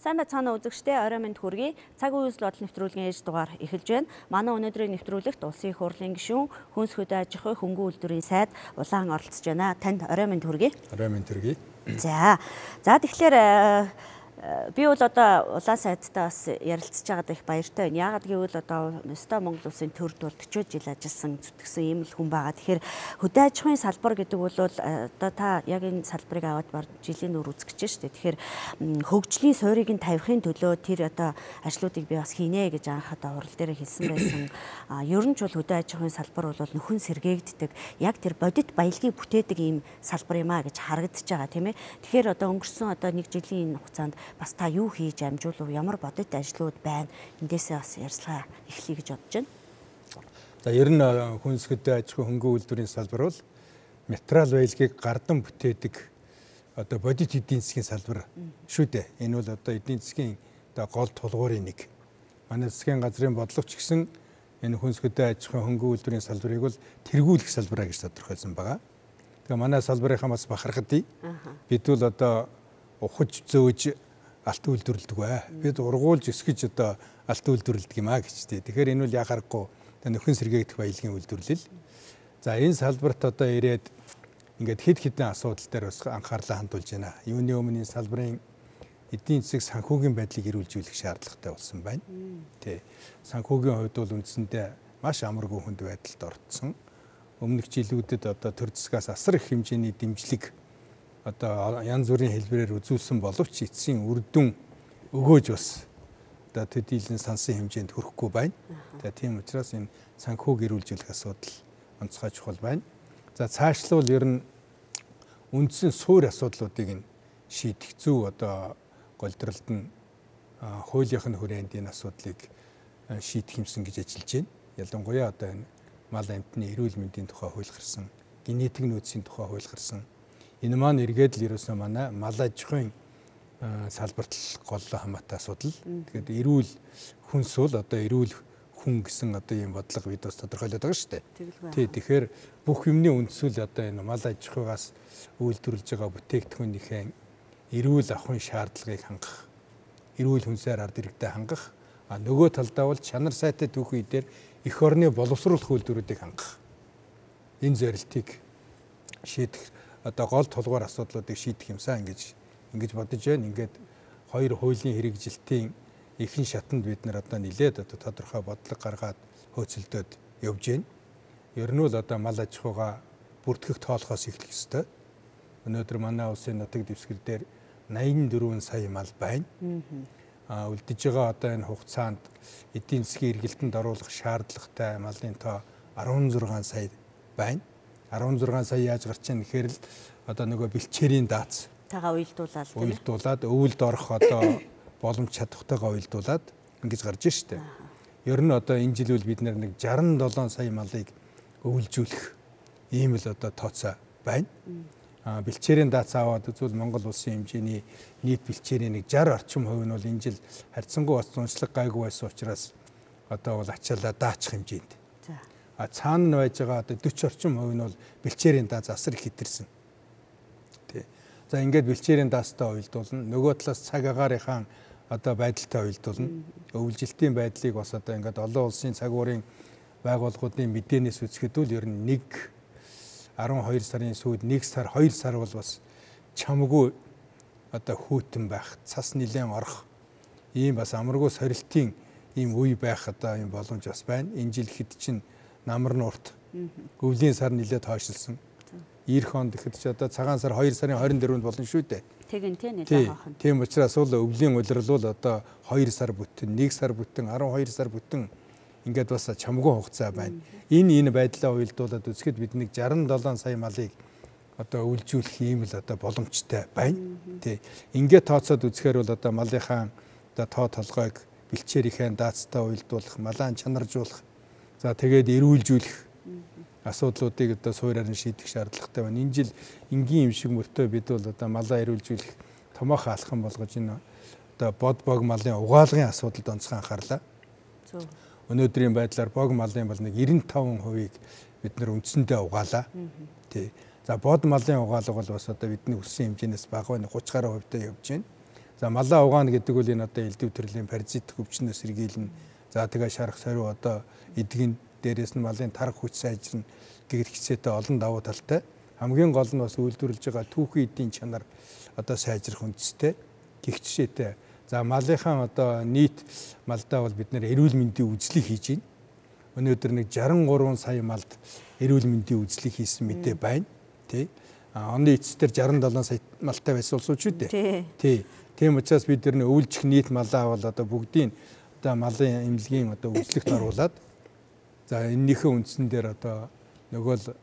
Сайн байцгаана үзэгчдээ орой минь хүргэе. Цаг үеийн бодол нэвтрүүлгийн ээж дугаар эхэлж байна. Манай өнөөдрийн нэвтрүүлэгт улсын их хурлын гишүүн, хүнс хөдөө аж ахуй хөнгөн үйлдвэрийн сайд улаан оролцож байна. Танд орой минь хүргэе. Орой минь хүргэе. За тэгэхээр би бол одоо улаан сайдтай бас ярилцж байгаад их баяртай байна. Яагаад гэвэл одоо өстой Монгол улсын төрд бол 40 жил ажилласан зүтгэсэн ийм л хүн байгаа. Тэгэхээр хөдөө аж ахуйн салбар гэдэг бол одоо та яг энэ салбарыг аваад бар жилийн үр үзэж шүү дээ. Тэгэхээр хөгжлийн суурийг нь тавихын төлөө тэр одоо ажлуудыг би бас хийнэ гэж анх одоо хурал дээр хэлсэн байсан. Ер нь ч бол хөдөө аж ахуйн салбар бол нөхөн сэргээгддэг. Яг тэр бодит баялагийг бүтээдэг ийм салбар юм а гэж харагдаж байгаа тийм ээ. Тэгэхээр одоо өнгөрсөн одоо нэг жилийн хугацаанд бас та юу хийж амжуулав, ямар бодит ажлууд байна, эндээсээ бас ярьцлага эхлэе гэж бодож байна. За ер нь хүнс хөдөө аж ахуй хөнгөн үйлдвэрийн салбар бол материал баялагийг гардан бүтээдэг одоо бодит эдийн засгийн салбар шүү дээ. Энэ бол одоо эдийн засгийн одоо гол тулгуурын нэг. Манай засгийн газрын бодлогоч гэсэн энэ хүнс хөдөө аж ахуй хөнгөн үйлдвэрийн салбарыг бол тэргүүлэх салбараа гэж тодорхойлсон байгаа. Тэгээ манай салбарынхаа бас бахархад бид бол одоо ухаж зөөж алт үйлдвэрлэдэг бай. Бид ургуулж өсгөж одоо алт үйлдвэрлэдэг юм а гэж тий. Тэгэхээр энэ бол яхаарахгүй нөхөн сэргээгдэх баялагын үйлдвэрлэл. За энэ салбарт одоо ирээд ингээд хэд хэдэн асуудал дээр бас анхаарлаа хандуулж байна. Юуны өмнө энэ салбарын эдийн засаг санхүүгийн байдлыг эрүүлжүүлэх шаардлагатай болсон байна. Тий. Санхүүгийн хувьд бол үндсэндээ маш амаргүй хүнд байдалд орцсон. Өмнөх жилүүдэд одоо төр засгаас асар их хэмжээний дэмжлэг одоо янз бүрийн хэлбэрээр үзүүлсэн боловч эцсийн үр дүн өгөөж бас одоо төдийлөн сансан хэмжээнд хүрэхгүй байна. За тийм учраас энэ санхүүг эрүүлжүүлэх асуудал онцгой чухал байна. За цаашлуул ер нь үндсэн суур асуудлуудыг нь шийдэх зөв одоо голдролд нь хуулийнхын хүрээнд энэ асуудлыг шийдэх юмсан гэж ажиллаж байна. Ялангуяа одоо энэ мал амьтны эрүүл мэндийн тухай хууль гарсан, генетик нөөцийн тухай хууль гарсан. Энэ маань эргээд л ерөөсөө манай мал аж ахуйн салбарт гол хамаатай асуудал. Тэгэхээр эрүүл хүнс бол одоо эрүүл хүн гэсэн одоо ийм бодлого бид бас тодорхойлоод байгаа шүү дээ. Тий, тэгэхээр бүх юмны үндсүүл одоо энэ мал аж ахуйгаас үйлдвэрлэж байгаа бүтээгдэхүүнийхээ эрүүл ахуйн шаардлагыг хангах, эрүүл хүнсээр ард иргэдэд хангах, нөгөө талдаа бол чанар сайтай түүх үе дээр эх орны боловсруулах үйлдвэрүүдийг хангах. Энэ зорилтыг шийдэх одоо гол тулгуур асуудлуудыг шийдэх юмсан ингэж бодож байна. Ингээд хоёр хуулийн хэрэгжилтийн ихэнх шатанд бид нар одоо нэлээд одоо тодорхой бодлого гаргаад хөөцөлдөөд явж байна. Ер нь бол одоо мал аж ахуйгаа бүртгэх тоолохоос эхлэх ёстой. Өнөөдөр манай улсын нутаг дэвсгэр дээр 84 сая мал байна. Үлдэж байгаа одоо энэ хугацаанд эдийн засгийн эргэлтэнд оруулах шаардлагатай малын тоо 16 сая байна. 16 сая яаж гарч ийн гэхээр л одоо нөгөө бэлчээрийн дац тагаа уйлдуулаад өвөлд орох одоо боломж чадвартайгаа уйлдуулаад ингэж гарч ийн штэ. Ер нь одоо энэ жил үл бид нэг 67 сая малыг өвөлжүүлэх ийм л одоо тооцоо байна. Бэлчээрийн дац аваад үзвэл Монгол улсын хэмжээний нийт бэлчээрийн нэг 60 орчим хувь нь бол энэ жил харьцангуй бас зуншлаг гайгүй байсан учраас одоо бол ачаалаа даачих хэмжээнд. Цаана нь байж байгаа одоо 40 орчим хувь нь бол бэлчээрийн дац асар их хэтэрсэн. Тий. За ингээд бэлчээрийн даацтай уйлдуулна. Нөгөө талаас цаг агаарынхаа одоо байдалтай уйлдуулна. Өвлжилтийн байдлыг бас одоо ингээд олон улсын цаг уурын байгууллагуудын мэдээнээс үзэхэд бол ер нь 12 сарын сүүлд 1 сар 2 сар бол бас чамгүй одоо хүйтэн байх, цас нилээн орох ийм бас амаргүй сорилтын ийм үе байх одоо ийм боломж бас байна. Энэ жил хэд чинь намар нуурт өвлийн сар нилээд хойшилсан. Ирэх онд гэхэд ч одоо цагаан сар 2 сарын 24-нд болно шүү дээ. Тэгин тий нэлээд хаахан. Тийм учраас бол өвлийн улирал бол одоо 2 сар бүтэн, 1 сар бүтэн, 12 сар бүтэн ингээд бас чамгүй хугацаа байна. Энэ байдлаа уйлдуулаад үзэхэд бид нэг 67 сая малыг одоо үйлжүүлэх ийм л одоо боломжтой байна. Тий. Ингээд тооцоод үзэхээр бол одоо малынхаа одоо тоо толгойг бэлчээрийнхээ даацтай уйлдуулах, малаан чанаржуулах, за тэгээд эрүүлжүүлэх асуудлуудыг одоо суурьаар нь шийдэх шаардлагатай байна. Энэ жил энгийн юм шиг мөртөө бид бол одоо малаа эрүүлжүүлэх томоохон алхам болгож энэ одоо бод бог малын угаалгын асуудалд онцгой анхаарлаа. Өнөөдрийн байдлаар бог малын бол нэг 95%-ийг бид нар үндсэндээ угаалаа. Тий. За бод малын угаалга бол бас одоо бидний өссөн хэмжээнээс бага байна. 30 гаруй хувьтай явж байна. За малаа угаана гэдэг бол энэ одоо элдв төрлийн паразит өвчнөөс сэргийлнэ. За тэгээ шарах сариу одоо эдгэн дээрээс нь малын тарх хүч сайжирна гэгэр хэсээтэй олон давуу талтай. Хамгийн гол нь бас үйлдвэрлэж байгаа түүхэн эдийн чанар одоо сайжрах үндэстэй гих жишээтэй. За малынхаа одоо нийт малдаа бол бид нэр эрүүл мэндийн үзлийг хийж байна. Өнөөдөр нэг 63 сая малд эрүүл мэндийн үзлийг хийсэн мэдээ байна. Тий. Оны эцэстэр 67 сая малтай байсан улсууд шүү дээ. Тий. Тийм учраас бид нэр өвлжих нийт малаа бол одоо бүгдийн одоо малын эмнэлгийн одоо үзлэгт оруулаад за энэнийхээ үндсэн дээр одоо нөгөө л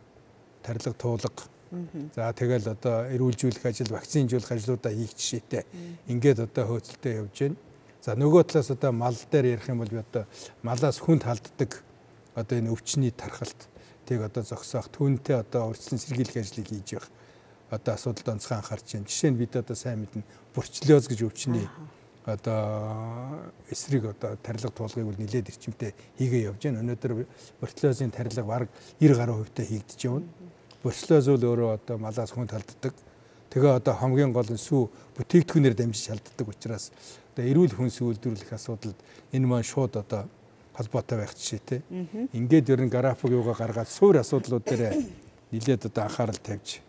тарилга туулга за тэгэл одоо эрүүлжүүлэх ажил, вакцинжуулах ажлуудаа хийх жишээтэй. Ингээд одоо хөөцөлтөд явж байна. За нөгөө талаас одоо мал дээр ярих юм бол би одоо малаас хүнд халддаг одоо энэ өвчний тархалт тийг одоо зогсоох түүнтэй одоо урьдчилан сэргийлэх ажлыг хийж явах одоо асуудалд онцгой анхаарч байна. Жишээ нь бид одоо сайн мэднэ бурчлиоз гэж өвчний одоо эсрэг одоо тарилга туулгыг бол нэлээд эрчимтэй хийгээ явж байна. Өнөөдөр бурчлиозын тарилга бараг 90% хийгдэж явна. Бурчлиоз бол өөрөө одоо малаас хүнд халддаг. Тэгээ одоо хамгийн гол нь сүү бүтээгдэхүүнээр дамжиж халддаг учраас одоо эрүүл хүнс үйлдвэрлэх асуудалд энэ маань шууд одоо холбоотой байх жишээтэй. Ингээд ер нь график юугаа гаргаад суур асуудлууд дээр нэлээд одоо анхаарал тавьж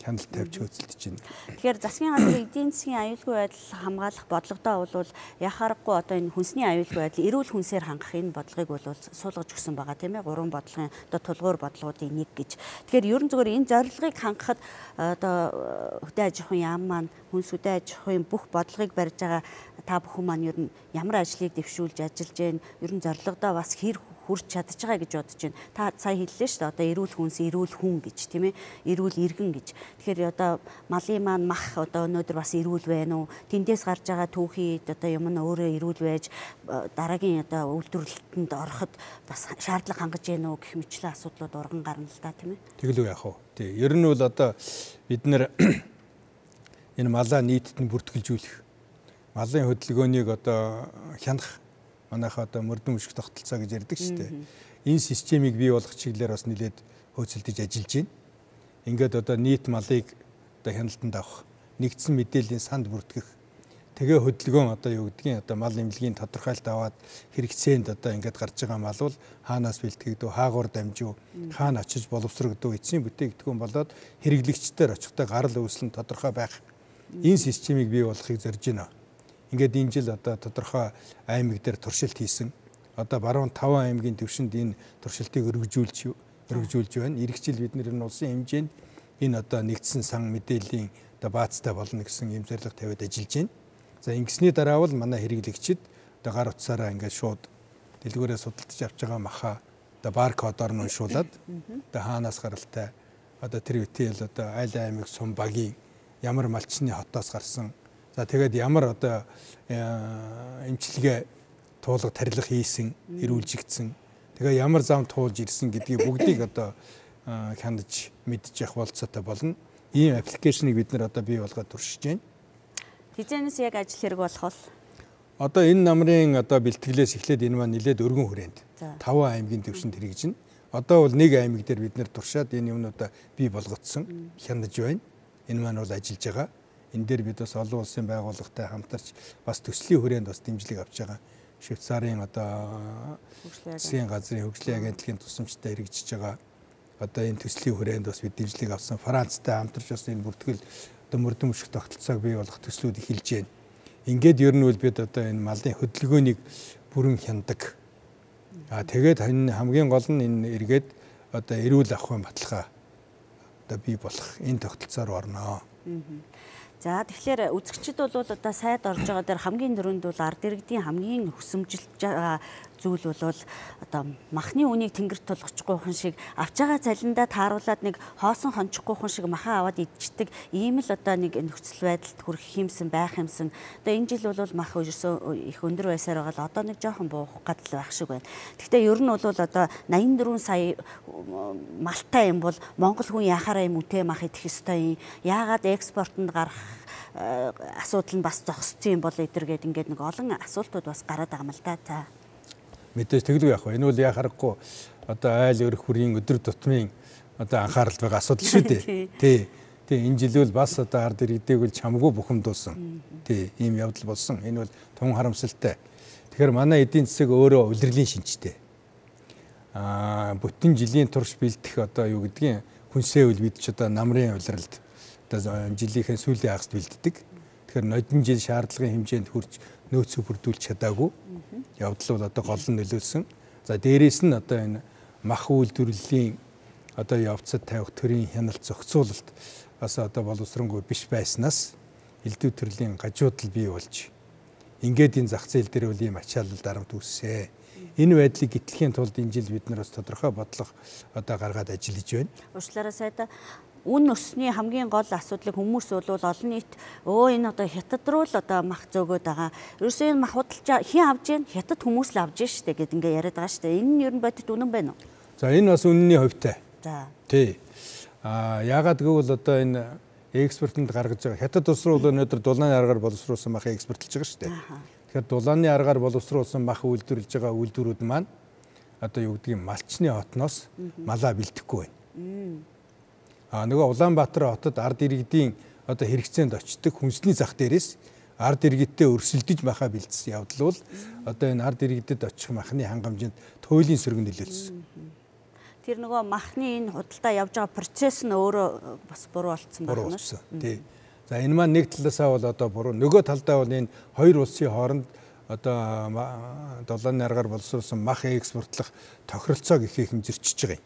хяналт тавьж хөөцөлдөж байна. Тэгэхээр засгийн газрын эдийн засгийн аюулгүй байдал хамгаалах бодлогодоо бол яхаарахгүй одоо энэ хүнсний аюулгүй байдал эрүүл хүнсээр хангах энэ бодлогыг бол суулгаж өгсөн байгаа тийм ээ. 3 бодлогын одоо тулгуур бодлогуудын нэг гэж. Тэгэхээр ерөн зөвөр энэ зорилгыг хангахад одоо хөдөө аж ахуйн яам маань хүнс хөдөө аж ахуйн бүх бодлогыг барьж байгаа та бүхэн маань ер нь ямар ажлыг дэвшүүлж ажиллаж байна? Ер нь зорилгодоо бас хэр хүрч чадж байгаа гэж бодож байна. Та сая хэллээ шүү дээ. Одоо эрүүл хүнс, эрүүл хүн гэж тийм ээ. Эрүүл иргэн гэж. Тэгэхээр одоо малын маань мах одоо өнөөдөр бас эрүүл байна уу? Тэндээс гарч байгаа түүхий одоо юм нь өөрөө эрүүл байж дараагийн одоо үйлдвэрлэлтэнд ороход бас шаардлага хангаж байна уу гэх мэтлэн асуудлууд урган гарна л да тийм ээ. Тэглүү яах вэ? Тий. Ер нь бол одоо бид нэр энэ малаа нийтэд нь бүртгэлжүүлэх малын хөдөлгөөнийг одоо хянах манайхаа одоо мөрдөн мөшг тогтолцоо гэж ярьдаг шүү дээ. Энэ системийг бий болгох чиглэлээр бас нэлээд хөөцөлдөж ажиллаж байна. Ингээд одоо нийт малыг одоо хяналтанд авах, нэгдсэн мэдээллийн санд бүртгэх. Тэгээ хөдөлгөөн одоо юу гэдгийг одоо мал эмнэлгийн тодорхойлт аваад хэрэгцээнд одоо ингээд гарч байгаа мал бол хаанаас бэлтгэгдв, хаагуур дамжив, хаана очиж боловсрогдов, эцсийн бүтээгдэхүүн болоод хэрэглэгчдээр очихдоо гарал үүслэн тодорхой байх. Энэ системийг бий болгохыг зорж байна. Ингээд энэ жил одоо тодорхой аймаг дээр туршилт хийсэн. Одоо баруун 5 аймгийн төвшөнд энэ туршилтыг өргөжүүлж байна. Ирэх жил бид нэр улсын хэмжээнд энэ одоо нэгдсэн сан мэдээллийн одоо баазтай болно гэсэн юм зорилго тавиад ажиллаж байна. За ингэсний дараа бол манай хэрэглэгчид одоо гар утсаараа ингээд шууд дэлгүүрээ судалдаж авч байгаа махаа одоо баркодоор нь уншуулад одоо хаанаас гаралтай одоо тэр үтэл одоо айл аймаг сум багийн ямар малчны хотоос гарсан. За тэгээд ямар одоо эмчилгээ туулга тарилга хийсэн, эрүүлжигдсэн. Тэгээ ямар зам туулж ирсэн гэдгийг бүгдийг одоо хянаж мэдчих явах болцоотой болно. Ийм аппликейшнийг бид нэр одоо бий болгоод туршиж байна. Хизээнээс яг ажил хэрэг болох бол одоо энэ намрын одоо бэлтгэлээс эхлээд энэ маань нэлээд өргөн хүрээнд 5 аймгийн төвшөнд хэрэгжинэ. Одоо бол нэг аймаг дээр бид нэр туршаад энэ юмнуудаа бий болгоцсон, хянаж байна. Энэ маань бол ажиллаж байгаа. Энэ дээр бид бас олон улсын байгууллагатай хамтарч бас төслийн хүрээнд бас дэмжлэг авч байгаа. Швейцарын одоо засгийн газрын хөгжлийн агентлагийн тусламжтай хэрэгжиж байгаа. Одоо энэ төслийн хүрээнд бас бид дэмжлэг авсан. Францтай хамтарч бас энэ бүртгэл одоо мөрдөн мөшг тогтолцоог бий болгох төслүүд эхэлж байна. Ингээд ер нь бол бид одоо энэ малын хөдөлгөөнийг бүрэн хяндаг. Тэгээд хамгийн гол нь энэ эргээд одоо эрүүл ахуйн баталгаа одоо бий болох энэ тогтолцоор орно. За тэгэхээр үзэгчид бол одоо сайд орж байгаа дээр хамгийн дөрөнд бол ард иргэдийн хамгийн хүсэмжилж байгаа зүйл бол одоо махны үнийг тэнгэрт тулгахгүй хүн шиг авч байгаа цалиндаа тааруулаад нэг хоосон хончихгүй хүн шиг махаа аваад идчихдэг ийм л одоо нэг нөхцөл байдалд хүрэх юмсан байх юмсан. Одоо энэ жил бол мах ерөөсөө их өндөр байсаар байгаа л одоо нэг жоохон буух гадал байх шиг байна. Гэхдээ ер нь бол одоо 84 сая малтай юм бол монгол хүн яхаараа юм үтэй мах идэх ёстой юм. Яагаад экспортод гарах асуудал нь бас зогссон юм бол эдэргээд ингээд нэг олон асуултууд бас гараад байгаа юм л да. За мэдээж тэглүү яах вэ? Энэ бол яхахгүй одоо айл өрх хүрийн өдөр тутмын одоо анхаарал байгаа асуудал шүү дээ. Тий. Тий энэ жил бол бас одоо ард иргэдэг бол чамгүй бухимдуулсан. Тий ийм явдал болсон. Энэ бол тун харамсалтай. Тэгэхээр манай эдийн засаг өөрөө улирлын шинжтэй. Бүтэн жилийн турш бэлдэх одоо юу гэдгийг хүнсээ үл бид ч одоо намрын улиралд одоо жилийнхээ сүүлийн хагаст бэлддэг. Тэгэхээр нодон жил шаардлагын хэмжээнд хүрч нөөцөө бүрдүүлж чадаагүй. Явдал бол одоо гол нь нөлөөлсөн. За дээрээс нь одоо энэ мах үйлдвэрлэлийн одоо явцад тавих төрийн хяналт зохицуулалт бас одоо боловсронгүй биш байснаас элдв төрлийн гажуудал бий болж ингээд энэ зах зээл дээр үл ийм ачаалал дарамт үүссэн. Энэ байдлыг гитлэхийн тулд энэ жил бид нар бас тодорхой бодлого одоо гаргаад ажиллаж байна. Уучлаарай сайда үн өсний хамгийн гол асуудлыг хүмүүс бол олон нийт энэ одоо хятад руу л одоо мах зөөгөөд байгаа. Ерөөсөө энэ мах худалдаж хэн авж гин хятад хүмүүс л авж гин штэ гэд ингээ яриад байгаа штэ. Энэ нь ер нь бодит үнэн байна уу? За энэ бас үнэний хувьтай. За. Тий. Яагаад гэвэл одоо энэ экспортод гаргаж байгаа хятад улс руу өнөөдөр дулааны аргаар боловсруулсан мах экспортлж байгаа штэ. Тэгэхээр дулааны аргаар боловсруулсан мах үйлдвэрлэж байгаа үйлдвэрүүд маань одоо юу гэдгийг малчны хотноос малаа бэлдэхгүй байна. Нөгөө Улаанбаатар хотод ард иргэдийн одоо хэрэгцээнд очдог хүнсний зах дээрээс ард иргэдтэй өрсөлдөж махаа бэлдсэн явдал бол одоо энэ ард иргэдэд очих махны хангамжинд туйлын сөргөн нөлөөлсөн. Тэр нөгөө махны энэ худалдаа явж байгаа процесс нь өөрөө бас буруу болцсон байна шүү. Тий. За энэ маань нэг талаасаа бол одоо буруу. Нөгөө талдаа бол энэ хоёр улсын хооронд одоо долларын аргаар боловсруулсан мах экспортлох тохиролцоог их хэмжирчж байгаа юм.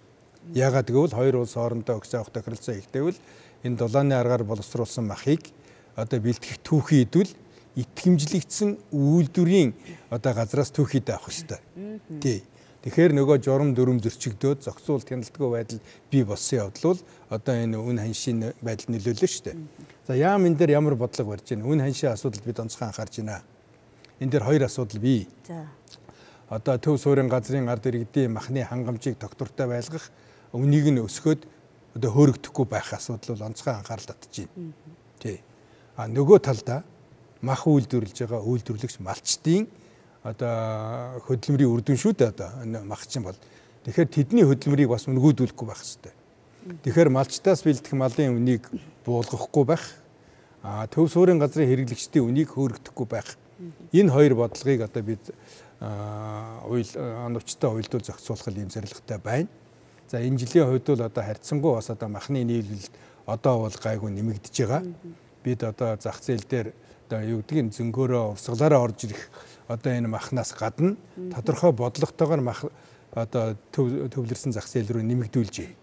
Яагаад гэвэл хоёр улс хоорондоо өгч авах тохиролцоо ихтэйвэл энэ дулааны аргаар боловсруулсан махыг одоо бэлтгэх түүхий идвэл итгэмжлэгдсэн үйлдвэрийн одоо газраас түүхийдээ авах хэрэгтэй. Тий. Тэгэхээр нөгөө журам дүрм зөрчигдөөд зохицуулт хяналтгүй байдал бий болсон явдал бол одоо энэ үн ханшийн байдал нөлөөлнө шүү дээ. За яам энэ дээр ямар бодлого барьж байна? Үн ханшийн асуудалд бид онцгой анхаарч байна. Энэ дээр хоёр асуудал бий. За. Одоо төв суурин газрын ард иргэдийн махны хангамжийг тогтвортой байлгах, үнийг нь өсгөөд одоо хөөрөгдөхгүй байх асуудал бол онцгой анхаарал татж байна. Тий. Нөгөө талдаа мах үйлдвэрлэж байгаа үйлдвэрлэгч малчдын одоо хөдөлмөрийн үр дүн шүү дээ одоо мах чинь бол. Тэгэхээр тэдний хөдөлмөрийг бас үнгүүдүүлэхгүй байх хэрэгтэй. Тэгэхээр малчтаас бэлдэх малын үнийг буулгахгүй байх. Төв суурин газрын хэрэглэгчдийн үнийг хөөрөгдөхгүй байх. Энэ хоёр бодлогыг одоо бид оновчтой уйлдуул зохицуулах юм зорилготой байна. За энэ жилийн хувьд бол одоо харьцангуй бас одоо махны нийлүүлэлт одоо бол гайгүй нэмэгдэж байгаа. Бид одоо зах зээл дээр одоо юу гэдгийг зөнгөөрөө урсгалаараа орж ирэх одоо энэ махнаас гадна тодорхой бодлоготойгоор мах одоо төвлөрсөн зах зээл рүү нэмэгдүүлж байна.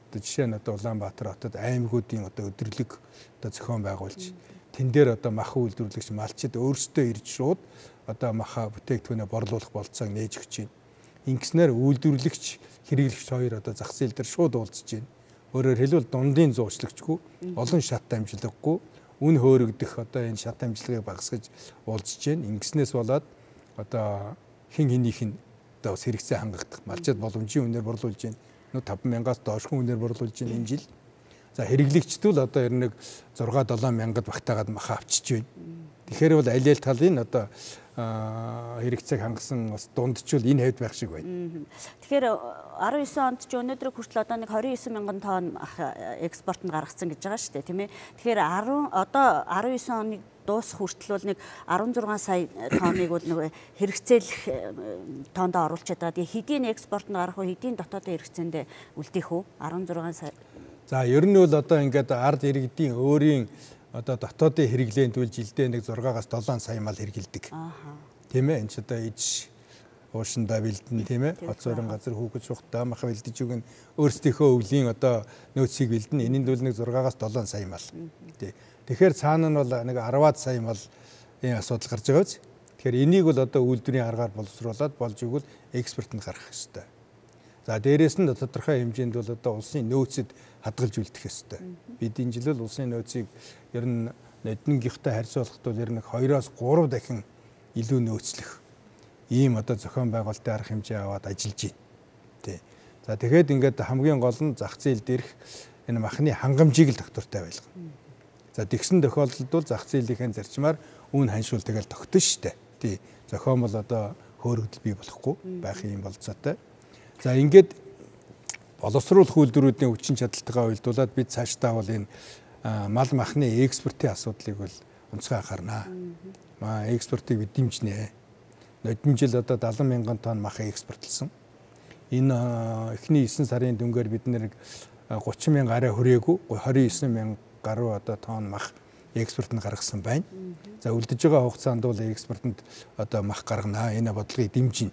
Одоо жишээ нь одоо Улаанбаатар хотод аймагуудын одоо өдрлөг одоо зохион байгуулж тэн дээр одоо мах үйлдвэрлэгч малчид өөрсдөө ирж шууд одоо махаа бүтээгдэхүүнээ борлуулах болцоог нээж өгч байна. Ингэснээр үйлдвэрлэгч хэрэглэгч хоёр одоо зах зээл дээр шууд уулзж байна. Өөрөөр хэлбэл дундын зуучлагчгүй олон шат амжилгахгүй үн хөөрөгдөх одоо энэ шат амжилгыг багасгаж уулзж байна. Ингэснээс болоод одоо хин хинийх нь одоо бас хэрэгцээ хангагдах малчид боломжийн үнээр борлуулж байна. 5,000-аас доошгүй үнээр борлуулж байна энэ жил. За хэрэглэгчдүүд одоо ер нь 6-7 мянгад багтаагаад мах авчиж байна. Тэгэхээр бол аль аль талын одоо хэрэгцээг хангасан бас дундчул энэ хэвд байх шиг байна. Тэгэхээр 19 онд ч өнөөдөр хүртэл одоо нэг 29 мянган тонн экспортод гаргацсан гэж байгаа шүү дээ, тийм ээ. Тэгэхээр одоо 19 оны дуусах хүртэл бол нэг 16 сая тонныг бол нэг хэрэгцээлэх тоондоо оруулчихад байгаа. Тэгээ хэдийн экспортод гарах уу, хэдийн дотоодын хэрэгцээндээ үлдээх үү? 16 сая. За ер нь бол одоо ингээд ард иргэдийн өөрийн одоо дотоодын хэрэглээнд үл жилдээ нэг 6-аас 7 сая мал хэрэгэлдэг. Тийм ээ. Энд ч одоо иж уушандаа бэлдэн тийм ээ. Хот суурин газар хүүхэд шухтаа мах бэлдэж өгнө. Өөрсдийнхөө өвлийн одоо нөөцийг бэлдэн. Энэнд бол нэг 6-аас 7 сая мал. Тэгэхээр цаана нь бол нэг 10-аад сая мал энэ асуудал гарч байгаа биз. Тэгэхээр энийг бол одоо үйлдвэрийн аргаар боловсруулад болж өгвөл экспортод гарах ёстой. За дээрээс нь тодорхой хэмжээнд бол одоо улсын нөөцөд хадгалж үлдэх ёстой. Бид энэ жил улсын нөөцийг ер нь эднэгийнхтэй харьцуулахад бол ер нь 2-оос 3 дахин илүү нөөцлөх ийм одоо зохион байгуулалтын арга хэмжээ аваад ажиллаж байна. Тий. За тэгэхэд ингээд хамгийн гол нь зах зээл дээрх энэ махны хангамжийг л тогтвортой байлгана. За тэгсэн тохиолдолд бол зах зээлийн зарчмаар үн ханшуул тэгэл тогтно шүү дээ. Тий. Зохион бол одоо хөөрөгдөл бий болохгүй байх юм болцоотой. За ингээд боловсруулах үйлдвэрүүдийн хүчин чадалтайгаа уялдуулаад бид цаашдаа бол энэ мал махны экспортын асуудлыг бол онцгой анхаарна. Экспортыг бид дэмжинэ. Нодлон жил одоо 70 мянган тонн мах экспортлсон. Энэ эхний 9 сарын дүнгээр бид нэр 30 мянга арай хүрээгүй 29 мянга гаруй одоо тонн мах экспортод гаргасан байна. За үлдэж байгаа хугацаанд бол экспортод одоо мах гаргана. Энэ бодлогыг дэмжинэ.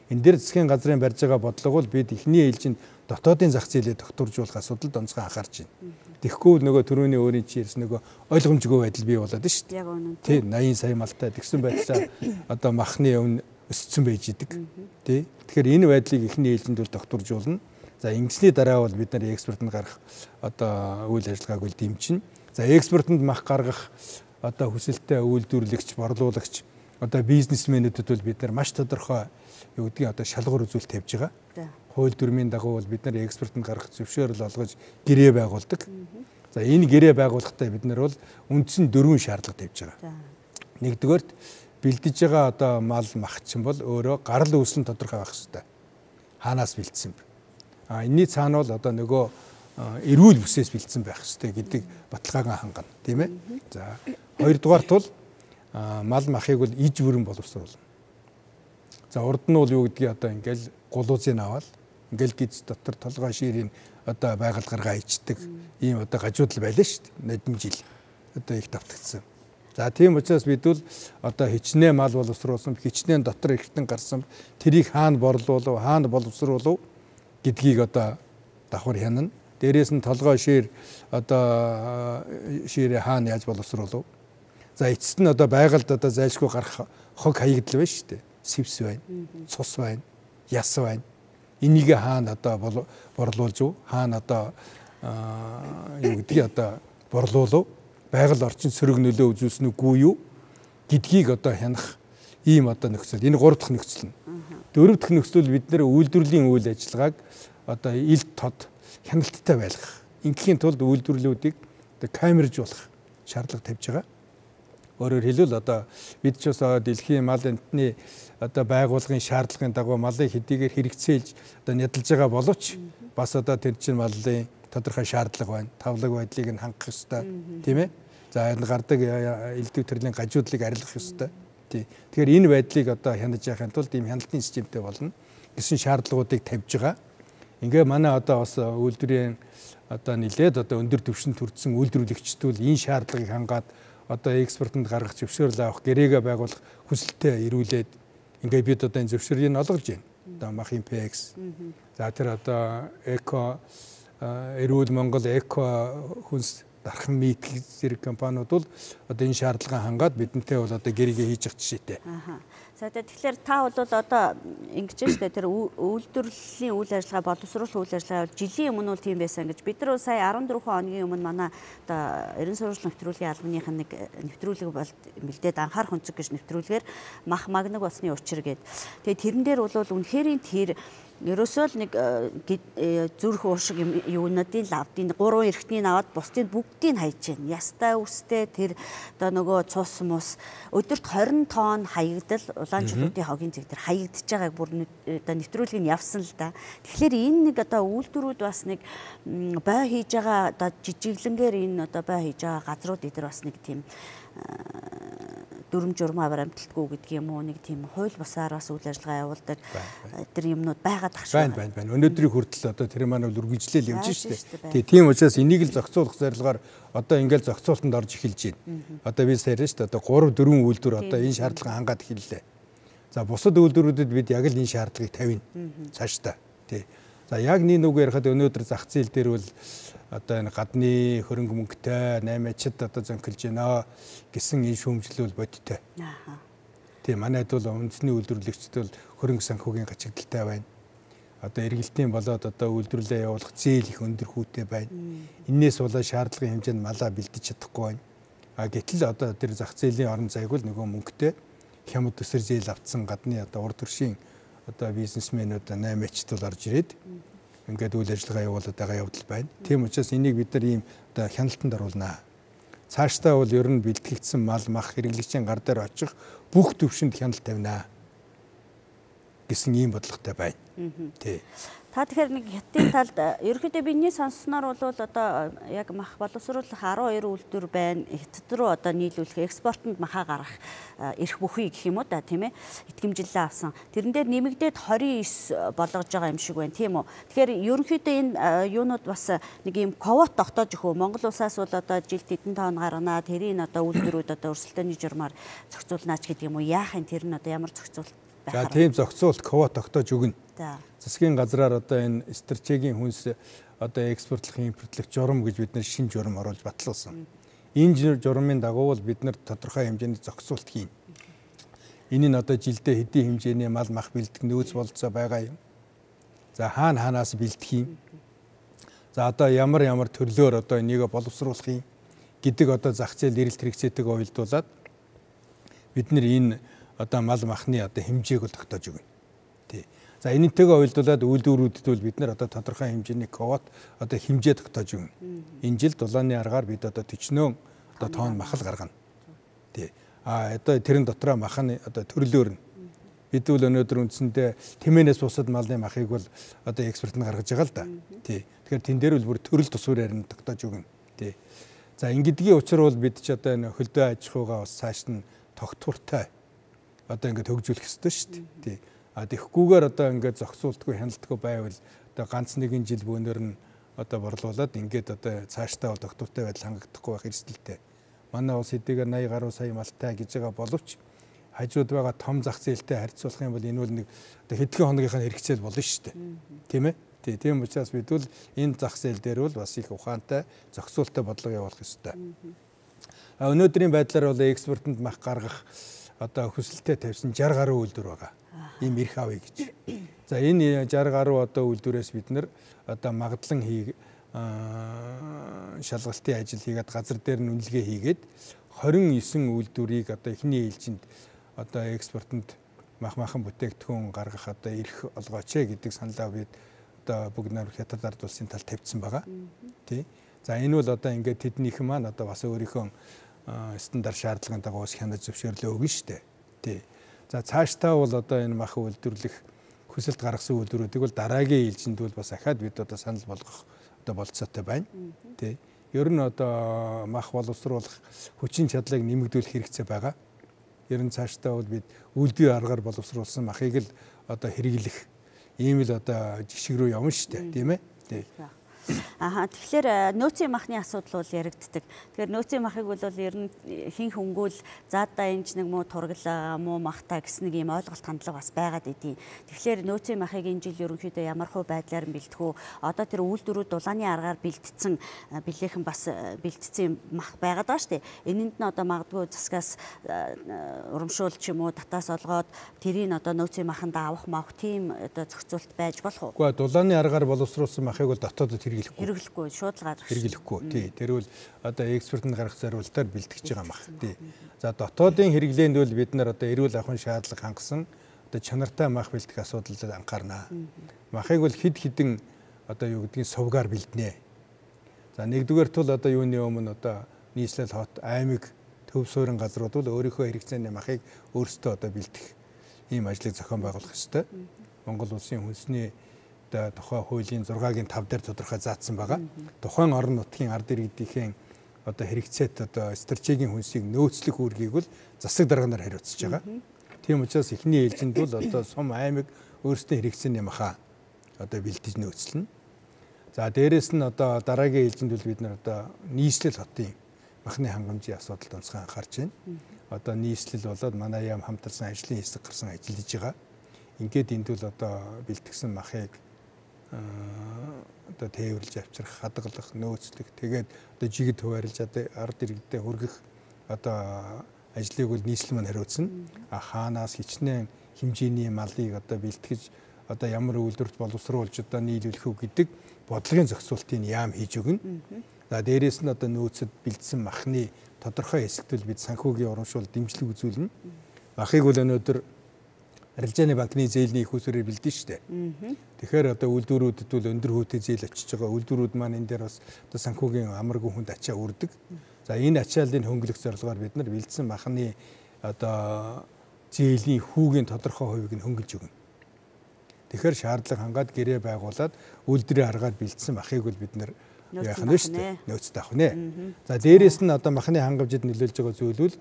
Энэ дээр засгийн газрын барьж байгаа бодлого бол бид эхний ээлжинд дотоодын зах зээлээ тогтворжуулах асуудалд онцгой анхаарч байна. Тэгэхгүй нөгөө түрүүний өөрийн чи ярьсан нөгөө ойлгомжгүй байдал бий болоод шүү дээ. Яг үнэн. Тий 80 сая малтай тэгсэн байдлаар одоо махны өвн өссөн байж идэг. Тий. Тэгэхээр энэ байдлыг эхний ээлжинд бол тогтворжуулна. За ингэсний дараа бол бид нар экспортод гарах одоо үйл ажиллагааг бол дэмжинэ. За экспортод мах гаргах одоо хүсэлттэй үйлдвэрлэгч, борлуулагч одоо бизнесмэнүүдэд бол бид нар маш тодорхой юу гэдгийг одоо шалгуур үзүүлэлт тавьж байгаа. Хууль дүрмийн дагуу бол бид нар экспортод гарах зөвшөөрөл олгож гэрээ байгуулдаг. За энэ гэрээ байгуулахдаа бид нар бол үндсэн 4 шаардлага тавьж байгаа. Нэгдүгээрт бэлдэж байгаа одоо мал мах чинь бол өөрөө гарал үүслэн тодорхой байх хэрэгтэй. Хаанаас бэлдсэн бэ? Энэний цаана бол одоо нөгөө эрүүл бүсээс бэлдсэн байх хэрэгтэй гэдэг баталгаагаа хангана, тийм ээ. За хоёрдугаарт бол мал махыг бол иж бүрэн боловсруулна. За урд нь бол юу гэдгийг одоо ингээл гулуузыг аваад ингээл гиз дотор толгой ширийн одоо байгаль гаргаа ичдэг ийм одоо гажуудал байлаа шүү дээ. Нодлон жил одоо их давтагдсан. За тийм учраас бид бол одоо хичнээн мал боловсруулсан, хичнээн дотор эргэтэн гарсан тэрийг хаана борлуулав, хаана боловсруулав гэдгийг одоо давхар хянана. Дээрээс нь толгой шир одоо ширээ хаана яаж боловсруулав. За эцэст нь одоо байгальд одоо зайлшгүй гарах хог хаягдл байна шүү дээ. Сэвс байна, цус байна, яс байна. Энийг хаана одоо борлуулж уу? Хаана одоо юу гэдгийг одоо борлуулав? Байгаль орчин сөрөг нөлөө үзүүлсэн үгүй юу гэдгийг одоо хянах ийм одоо нөхцөл. Энэ 3 дахь нөхцөл нь. 4 дахь нөхцөл бид нэр үйлдвэрлэлийн үйл ажиллагааг одоо ил тод хяналттай байлгах. Ингээхийн тулд үйлдвэрлэлүүдийг одоо камержуулах шаардлага тавьж байгаа. Өөрөөр хэлбэл одоо бид ч бас дэлхийн мал амтны одоо байгууллагын шаардлагын дагуу малын хэдийгээр хэрэгцээлж одоо нядалж байгаа боловч бас одоо тэр чинь малын тодорхой шаардлага байна. Тавлаг байдлыг нь хангах ёстой, тийм ээ. За энэ гардаг элдв төрлийн гажуудлыг арилгах ёстой. Тэгэхээр энэ байдлыг одоо хянаж яхахын тулд ийм хяналтын системтэй болно гэсэн шаардлагуудыг тавьж байгаа. Ингээ манай одоо бас үйлдвэрийн одоо нэлээд одоо өндөр түвшинд хүрсэн үйлдвэрлэгчдүүд энэ шаардлагыг хангаад одоо экспортод гаргах зөвшөөрөл авах гэрээгээ байгуулах хүсэлтэд ирүүлээд ингээ бид одоо энэ зөвшөөрийг олгож байна. Одоо махын PX. За тэр одоо эко эрүүл Монгол эко хүнс дархан нийтлэг зэрэг компаниуд бол одоо энэ шаардлагаа хангаад бидэнтэй бол одоо гэрээгээ хийж явах жишээтэй. За тэгэхээр та бол одоо ингэж штэ тэр үйлдвэрлэлийн үйл ажиллагаа боловсруулах үйл ажиллагаа жилийн өмнө бол тийм байсан гэж бид нар сая 14 хоногийн өмнө манай одоо ерөн сурвалж нэвтрүүлгийн албаных нэг нэвтрүүлэг бол бэлдээд анхаарах өнцөг гэж нэвтрүүлгээр мах магнаг болсны учир гээд тэгээ тэрэн дээр бол үнэхээр тэр ерөөсөө л нэг зүрх уушиг юунуудын лавдын 3 эрхтнийг аваад бусдыг бүгдийг хайж байна. Ястай үстэй тэр одоо нөгөө цус мус өдөрт 20 тонн хаягдал улаанчлуудын хогийн зэг тэр хаягдж байгааг бүр одоо нэвтрүүлгийг явсан л да. Тэгэхээр энэ нэг одоо үйлдвэрүүд бас нэг бай хийж байгаа одоо жижиглэнгээр энэ одоо бай хийж байгаа газрууд эдэр бас нэг тийм дүрм журмаа баримталтгүй гэдэг юм уу нэг тийм хууль бусаар бас үйл ажиллагаа явуулдаг тэр юмнууд байгаад ах шиг байна. Өнөөдрийн хүртэл одоо тэр маань бол үргэлжлэл явж штэ. Тийм учраас энийг л зохицуулах зорилгоор одоо ингээл зохицуултанд орж эхэлж байна. Одоо би саяхан штэ одоо 3-4 үйлдвэр одоо энэ шаардлагыг хангаад эхэллээ. За бусад үйлдвэрүүдэд бид яг л энэ шаардлагыг тавина. Цаашдаа. Тий. За яг нэг үг ярихад өнөөдөр зах зээл дээр бол одоо энэ гадны хөрөнгө мөнгөтэй 8-ачд одоо зөнхөлж байна гэсэн энэ шүүмжлэл бол бодиттой. Тийм манайд бол үндэсний үйлдвэрлэгчд бол хөрөнгө санхүүгийн гачигдaltaй байна. Одоо эргэлтийн болоод одоо үйлдвэрлэлээ явуулах зээл их өндөр хүүтэй байна. Иннээс болоод шаардлагын хэмжээнд малаа бэлдэж чадахгүй байна. Гэтэл одоо тэр зах зээлийн орон зайг бол нөгөө мөнгөтэй хямд төсөр зээл авцсан гадны одоо урд төршийн одоо бизнесмэнүүд 8-ачд бол орж ирээд ингээд үйл ажиллагаа явуулаад байгаа явдал байна. Тийм учраас энийг бид нар ийм одоо хяналтанд оруулнаа. Цаашдаа бол ер нь бэлтгэгдсэн мал мах хэрэглэгчийн гар дээр очих бүх төвшөнд хяналт тавина гэсэн ийм бодлоготой байна. Тий. Та тэгэхээр нэг хятадын талд ерөнхийдөө бидний сонссноор бол одоо яг мах боловсруулах 12 үйлдвэр байна. Хятад руу одоо нийлүүлэх экспортод махаа гаргах эрх бүхий гэх юм уу да тийм ээ. Итгэмжлэлээ авсан. Тэрэн дээр нэмэгдээд 29 болгож байгаа юм шиг байна тийм үү. Тэгэхээр ерөнхийдөө энэ юунууд бас нэг юм ковот тогтоож өгөө. Монгол улсаас бол одоо жилд хэдэн тонн гаргана. Тэрийн одоо үйлдвэрүүд одоо өрсөлдөөний журмаар зохицуулнаач гэдэг юм уу. Яахын тэр нь одоо ямар зохицуулт байх вэ? За тийм зохицуулт ковот тогтоож өгнө. За. Засгийн газраар одоо энэ стратегийн хүнс одоо экспортлох, импортлох журам гэж бид нэр шинэ журам оруулж батлуулсан. Энэ журамын дагуу бол бид нар тодорхой хэмжээний зохицуулт хийн. Энэ нь одоо жилдээ хэдийн хэмжээний мал мах бэлдэх нөөц болцоо байгаа юм. За хаанаас бэлдэх юм. За одоо ямар төрлөөр одоо энийг боловсруулах юм гэдэг одоо зах зээл эрэлт хэрэгцээтэйг уялдуулаад бид нар энэ одоо мал махны одоо хэмжээг бол тогтоож өгнө. Тий. За энэтэйгээ уялдуулаад үйлдвэрүүдэд бол бид нар одоо тодорхой хэмжээний ковот одоо хэмжээ тогтоож өгнө. Энэ жил дулааны аргаар бид одоо 40 одоо тонн мах л гаргана. Тий. Одоо тэрэн дотроо мах нь одоо төрлөөр нь бид бол өнөөдөр үндсэндээ тэмээнээс бусад малын махыг бол одоо экспортод гаргаж байгаа л да. Тий. Тэгэхээр тэн дээр бол бүр төрөл тусвараар нь тогтоож өгнө. Тий. За ингэдгийн учир бол бид ч одоо энэ хөлдөө аж ахуйгаа бас цааш нь тогтвортой одоо ингээд хөгжүүлэх ёстой шүү дээ. Тий. Тэгэхгүйгээр одоо ингээд зохицуултгүй хяналтгүй байвал одоо ганц нэгэн жил бөөнөр нь одоо борлуулад ингээд одоо цаашдаа бол тогтвортой байдал хангагдахгүй байх эрсдэлтэй. Манай улс хэдийгээр 80 гаруй сая малтай гэж байгаа боловч хажууд байгаа том зах зээлтэй харьцуулах юм бол энэ бол нэг одоо хэдхэн хоногийнхаа хэрэгцээ болно шүү дээ. Тийм ээ. Тийм учраас бид бол энэ зах зээл дээр бол бас их ухаантай зохицуулттай бодлого явуулах ёстой. Өнөөдрийн байдлаар бол экспортод мах гаргах одоо хүсэлтэд тавьсан 60 гаруй үйлдвэр байгаа. Ийм эрх авъя гэж. За энэ 60 гаруй одоо үйлдвэрээс бид нэр одоо магадлан шалгалтын ажил хийгээд газар дээр нь үнэлгээ хийгээд 29 үйлдвэрийг одоо эхний ээлжинд одоо экспортод махан бүтээгдэхүүн гаргах одоо эрх олгооч гэдэг саналаа бид одоо бүгд найрамд Хятад ард улсын талд тавьсан байгаа. Тий. За энэ бол одоо ингээд тэднийхэн маань одоо бас өөрийнхөө стандарт шаардлагын дагуу хянаж зөвшөөрлөө өгнө шүү дээ. Тий. За цаашдаа бол одоо энэ мах үйлдвэрлэх хүсэлт гаргасан үйлдвэрүүдийг бол дараагийн ээлжинд бол бас ахаад бид одоо санал болгох одоо болцоотой байна. Тий. Ер нь одоо мах боловсруулах хүчин чадлыг нэмэгдүүлэх хэрэгцээ байгаа. Ер нь цаашдаа бол бид үйлдвэрийн аргаар боловсруулсан махыг л одоо хэрэглэх ийм л одоо жишг рүү явна шүү дээ. Тийм ээ. Тий. Тэгэхээр нөөцийн махны асуудал бол яригддаг. Тэгэхээр нөөцийн махыг бол ер нь хин хөнгөл заадаа энэ нэг муу тургалаа муу махтаа гэсэн нэг юм ойлголт хандлага бас байгаад идэв. Тэгэхээр нөөцийн махыг энэ жил ерөнхийдөө ямар хөө байдлаар бэлдэх үү? Одоо тэр үйлдвэрүүд дулааны аргаар бэлдсэн билээхэн бас бэлдсэн мах байгаад байгаа шүү дээ. Энэнд нь одоо магадгүй засгаас урамшуулж юм уу татаас олгоод тэрийг одоо нөөцийн маханд авах мавх тийм одоо зохицуулт байж болох уу? Үгүй дулааны аргаар боловсруулсан махыг бол дотоодод хэрэглэхгүй шууд л гаргах. Хэрэглэхгүй. Тий. Тэр бол одоо экспортод гаргах зорилтоор бэлтгэж байгаа мах. Тий. За дотоодын хэрэглээнд бол бид нар одоо эрүүл ахуйн шаардлага хангасан одоо чанартай мах бэлтгэх асуудалд анхаарнаа. Махыг бол хэд хэдэн одоо юу гэдгийг сувгаар бэлднэ. За нэгдүгээр тул одоо юуны өмнө одоо нийслэл хот аймаг төв суурин газрууд бол өөрийнхөө хэрэгцээний махыг өөрсдөө одоо бэлдэх ийм ажлыг зохион байгуулах ёстой. Монгол улсын хүнсний тухай хуулийн 6-гийн 5 дээр тодорхой заасан байгаа. Тухайн орон нутгийн ард иргэдийн одоо хэрэгцээт одоо стратегийн хүнсийг нөөцлөх үүргийг бол засаг дарганаар хариуцж байгаа. Тийм учраас эхний ээлжинд бол одоо сум аймаг өөрсдөө хэрэгцээний махаа одоо бэлдэж нөөцлөнө. За дээрэс нь одоо дараагийн ээлжинд бол бид нар одоо нийслэл хотын махны хангамжийн асуудалд онцгой анхаарч байна. Одоо нийслэл болоод манай яам хамтарсан ажлын хэсэг гарсан ажиллаж байгаа. Ингээд энд бол одоо бэлтгэсэн махыг одоо тээвэрлж авчрах, хадгалах, нөөцлөх, тэгээд одоо жигд хуваарлж ард иргэдэд хүргэх одоо ажлыг бол нийслэл маань хариуцна. Хаанаас хичнээн хэмжээний малыг одоо бэлтгэж одоо ямар үйлдвэрт боловсруулж одоо нийлүүлэх үү гэдэг бодлогын зохицуултыг яам хийж өгнө. За дээрээс нь одоо нөөцөд бэлдсэн махны тодорхой хэсэгт бид санхүүгийн урамшуул дэмжлэг үзүүлнэ. Махыг бол өнөөдөр арилжааны банкны зээлийн их усрээр бэлдэн штэ. Тэгэхээр одоо үйлдвэрүүдэд бол өндөр хөөтэй зээл очиж байгаа. Үйлдвэрүүд маань энэ дээр бас одоо санхүүгийн амаргүй хүнд ачаа үрдэг. За энэ ачааллыг хөнгөлөх зорилгоор бид нар бэлдсэн махны одоо зээлийн хүүгийн тодорхой хувийг нь хөнгөлж өгнө. Тэгэхээр шаардлага хангаад гэрээ байгуулад үйлдвэрээ аргаад бэлдсэн махыг бол бид нэр яах нь шүү дээ. Нөөцтэй авах нэ. За дээрээс нь одоо махны хангамжид нөлөөлж байгаа зүйл бол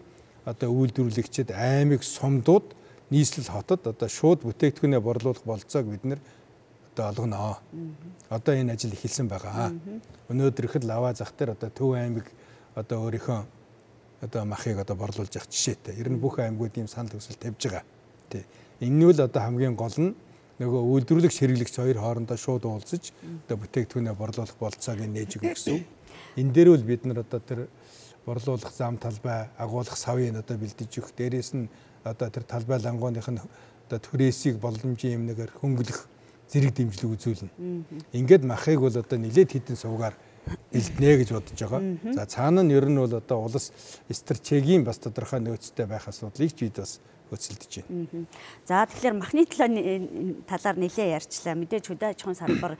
одоо үйлдвэрлэгчид аймаг сумдууд нийслэл хотод одоо шууд бүтээгдэхүүнээ борлуулах болцоог бид нэр одоо олгоно. Одоо энэ ажил эхэлсэн байгаа. Өнөөдөр ихэд лава зах дээр одоо Төв аймаг одоо өөрийнхөө одоо махыг одоо борлуулж явах жишээтэй. Ер нь бүх аймагуд ийм санал хүсэл тавьж байгаа. Тий. Энэ нь л одоо хамгийн гол нь нөгөө үйлдвэрлэгч хэрэглэгч хоёр хоорондоо шууд уулзаж одоо бүтээгдэхүүнээ борлуулах болцоог нээж өгөх гэсэн. Энэ дээр бол бид нар одоо тэр борлуулах зам талбай, агуулгах савыг одоо бэлдэж өгөх. Дээрээс нь одоо тэр талбай лангууных нь одоо түрээсийг боломжийн юмнаар хөнгөлөх зэрэг дэмжлэг үзүүлнэ. Ингээд махыг бол одоо нэлээд хідэн сувгаар бэлднэ гэж бодож байгаа. За цаана нь ер нь бол одоо улс стратегийн бас тодорхой нөөцтэй байх асуудлыг ч бид бас хөцөлдөж байна. За тэгэхээр махны талаар нэлээ ярьчлаа. Мэдээж хөдөө аж ахуйн салбар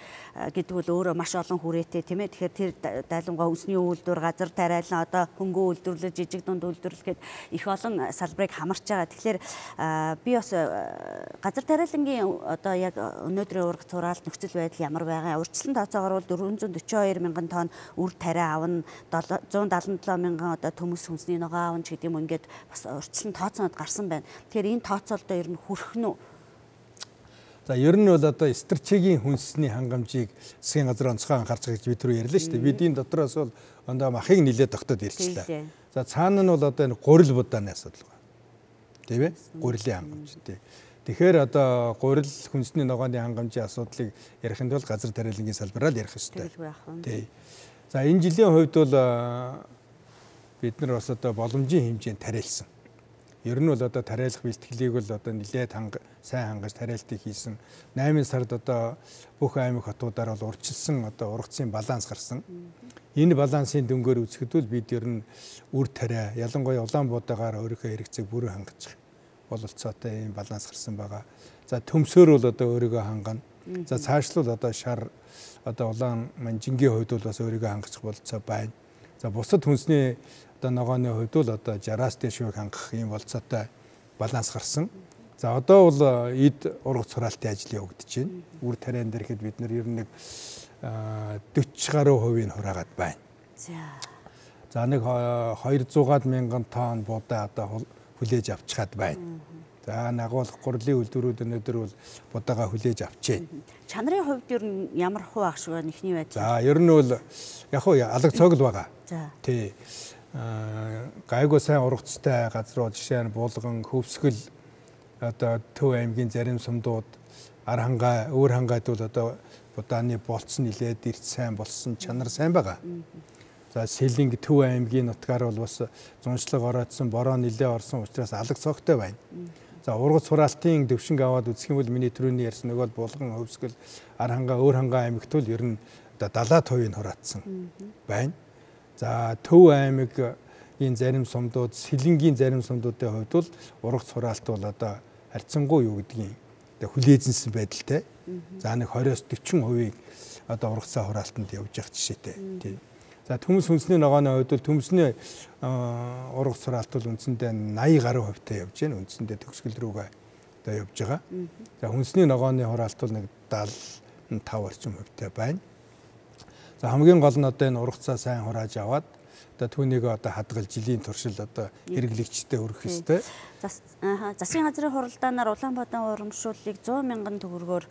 гэдэг бол өөрөө маш олон хүрээтэй тийм ээ. Тэгэхээр тэр дайлангаа үндэсний үйлдвэр, газар тариалан одоо хөнгөө үйлдвэрлэл, жижиг дунд үйлдвэрлэл гэд их олон салбарыг хамарч байгаа. Тэгэхээр би бас газар тариалангийн одоо яг өнөөдрийн ураг тураалт нөхцөл байдал ямар байгаа. Урьдчилан тооцоогоор бол 442 мянган тонн үр тариа авна, 177 мянган одоо төмөс хүнсний ногоо авна ч гэдэг юм ингээд бас урьдчилан тооцоонод гарсан байна. Тэгэхээр энэ тооцоолдоо ер нь хүрэх нь үү? За ер нь бол одоо стратегийн хүнсний хангамжийг засгийн газар онцгой анхаарч байгаа гэж бид түрүү ярьлаа шүү дээ. Бид энэ дотроос бол ондоо махыг нэлээд тогтоод ярьчлаа. За цаана нь бол одоо энэ гурил будааны асуудал байна. Тийм ээ? Гурилын хангамж тий. Тэгэхээр одоо гурил хүнсний ногооны хангамжийн асуудлыг ярихын тулд газар тариалангийн салбараар ярих ёстой. Тий. За энэ жилийн хувьд бол бид нар бас одоо боломжийн хэмжээнд тариалсан. Ер нь бол одоо тариалах бэлтгэлийг бол одоо нэлээд сайн хангаж тариалтыг хийсэн. 8 сард одоо бүх аймаг хотуудаар бол урьдчилсан одоо ургацын баланс гарсан. Энэ балансын дөнгөөр үзэхэд бол бид ер нь үр тариа ялангуяа Улаанбуудаагаар өөрийнхөө хэрэгцээг бүрэн хангаж бололцоотой ийм баланс гарсан байгаа. За төмсөөр бол одоо өөрийгөө хангана. За цаашлуул одоо шар одоо улаан манжингийн хувьд бол бас өөрийгөө хангах бололцоо байна. За бусад хүнсний одоо ногооны хувьд бол одоо 60-аас дээш хувийг хангах ийм болцоотой баланс гарсан. За одоо бол эд ургац хураалтын ажил явагдаж байна. Үр тариан дээр ихэд бид нар ер нь нэг 40 гаруй хувийг хураагаад байна. За нэг 200-аад мянган тонн будаа одоо хүлээж авчихад байна. За нагуулах гурилын үйлдвэрүүд өнөөдөр бол будаага хүлээж авч байна. Чанарын хувьд ер нь ямар хуу ах шиг нэхний байдал? За ер нь бол яг уу алга цогл байгаа. Тий. Гайгүй сайн ургацтай газрууд жишээ нь Булган, Хөвсгөл одоо Төв аймгийн зарим сумдууд ар хангаа, өөр хангаад бол одоо будааны болц нилээд эрт сайн болсон, чанар сайн байгаа. За Сэлэнг Төв аймгийн нутгаар бол бас зуншлаг ороодсон, бороо нилээ орсон учраас алга цогтой байна. За ургац хураалтын төвшинг аваад үзэх юм бол миний түрүүний ярьсан нөгөө Булган, Хөвсгөл, ар хангаа, өөр хангаа аймагт бол ер нь одоо 70% хураацсан байна. За Төв аймаг энэ зарим сумдууд, Сэлэнгийн зарим сумдуудын хувьд бол ургац хураалт бол одоо харьцангуй юу гэдгийг хүлээзэнсэн байдалтай. За нэг 20-40% одоо ургацаа хураалтанд явж явах жишээтэй. Тийм. За төмс хүнсний ногооны хувьд бол төмсний ургац хураалт бол үндсэндээ 80 гаруй хувьтай явж байна. Үндсэндээ төгсгөл рүүгээ одоо явж байгаа. За хүнсний ногооны хураалт бол нэг 75 орчим хувьтай байна. За хамгийн гол нь одоо энэ ургацаа сайн хурааж аваад одоо түүнийг одоо хадгалж жилийн туршил одоо хэрэглэгчтэй өргөх ёстой. Засгийн газрын хуралдаанаар Улаанбаатарын урамшууллыг 100 мянган төгрөгөөр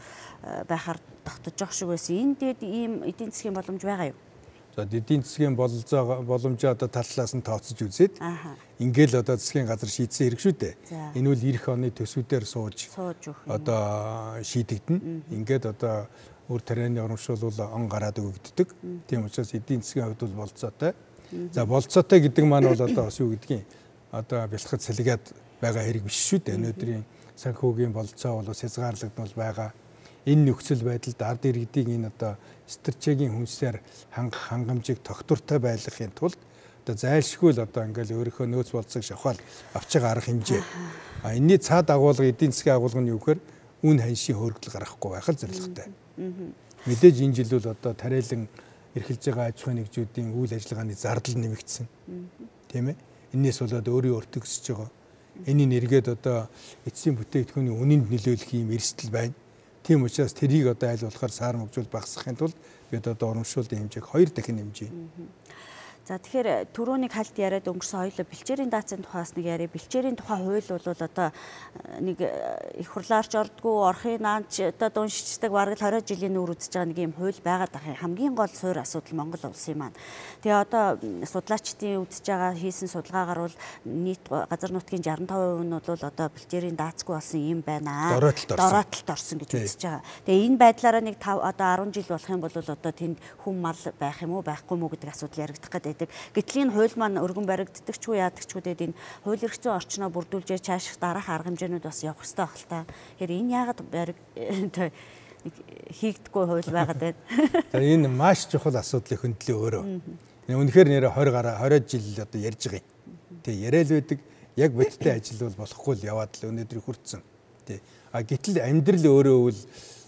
байхаар тогтож байгаа шиг байсан. Энд дээд ийм эдийн засгийн боломж байгаа юу? За эдийн засгийн боломжоо одоо тал талаас нь тооцож үзээд ингээл одоо засгийн газар шийдсэн хэрэг шүү дээ. Энэ үл эх оны төсвүүдээр сууж одоо шийдэгдэнэ. Ингээд одоо үр тарианы урамшуул он гараад өгөгддөг. Тийм учраас эдийн засгийн хувьд бол болцоотой. За болцоотой гэдэг маань бол одоо бас юу гэдгийг одоо бэлтгэж салгиад байгаа хэрэг биш шүү дээ. Өнөөдрийн санхүүгийн болцоо бол хязгаарлагдмал байгаа. Энэ нөхцөл байдалд ард иргэдийн энэ одоо стратегийн хүнсээр хангах хангамжийг тогтвортой байлгахын тулд одоо зайлшгүй л одоо ингээл өөрийнхөө нөөц болцоог шавхаад авч байгаа арга хэмжээ. Энэний цаад агуулга эдийн засгийн агуулга нь юу гэхээр үн ханшийн хөргөл гаргахгүй байх л зорилготой. Мэдээж энэ жил бол одоо тариалан эрхэлж байгаа аж ахуйн нэгжүүдийн үйл ажиллагааны зардал нэмэгдсэн. Тийм ээ. Энээс болоод өөрийн өртөг өсөж байгаа. Энийн эргээд одоо эцсийн бүтээгдэхүүний үнэнд нөлөөлөх юм эрсдэл байна. Тийм учраас тэрийг одоо аль болохоор саар мөгжүүл багасгахын тулд бид одоо урамшууллын хэмжээг 2 дахин хэмжээ. За тэгэхээр түрүүнийг хальт яриад өнгөрсөн хоёулаа бэлчээрийн даацын тухаас нэг яриа. Бэлчээрийн тухай хууль бол одоо нэг их хурлаарч ордгоо орхын наанч одоо уншичдаг бараг 20 жилийн нүүр үзэж байгаа нэг юм хууль байгаад байгаа. Хамгийн гол суурь асуудал Монгол улсын маань. Тэгээ одоо судлаачдын үзэж байгаа хийсэн судалгаагаар бол нийт газар нутгийн 65% нь бол одоо бэлчээрийн даацгүй болсон юм байна. Дороотолд орсон гэж үзэж байгаа. Тэгээ энэ байдлаараа нэг 5 одоо 10 жил болох юм бол одоо тэнд хүм мал байх юм уу байхгүй мүү гэдэг асуудал яригдах гэдэг. Гэтэл энэ хууль маань өргөн баригддаг ч уу яадаг ч үдээд энэ хууль эрх зүйн орчноо бүрдүүлж цааших дараах арга хэмжээнүүд бас явах хэрэгтэй байх л та. Тэгэхээр энэ яагаад хийгдэггүй хууль байгаад байна. За энэ маш чухал асуудлын хөндлөө өөрөө. Үнэхээр нэрэ 20 жил одоо ярьж байгаа юм. Тэг яриад байдаг яг бодиттой ажил бол болохгүй л яваад л өнөөдөр хүрсэн. Тэг. А гэтэл амьдрал өөрөө бол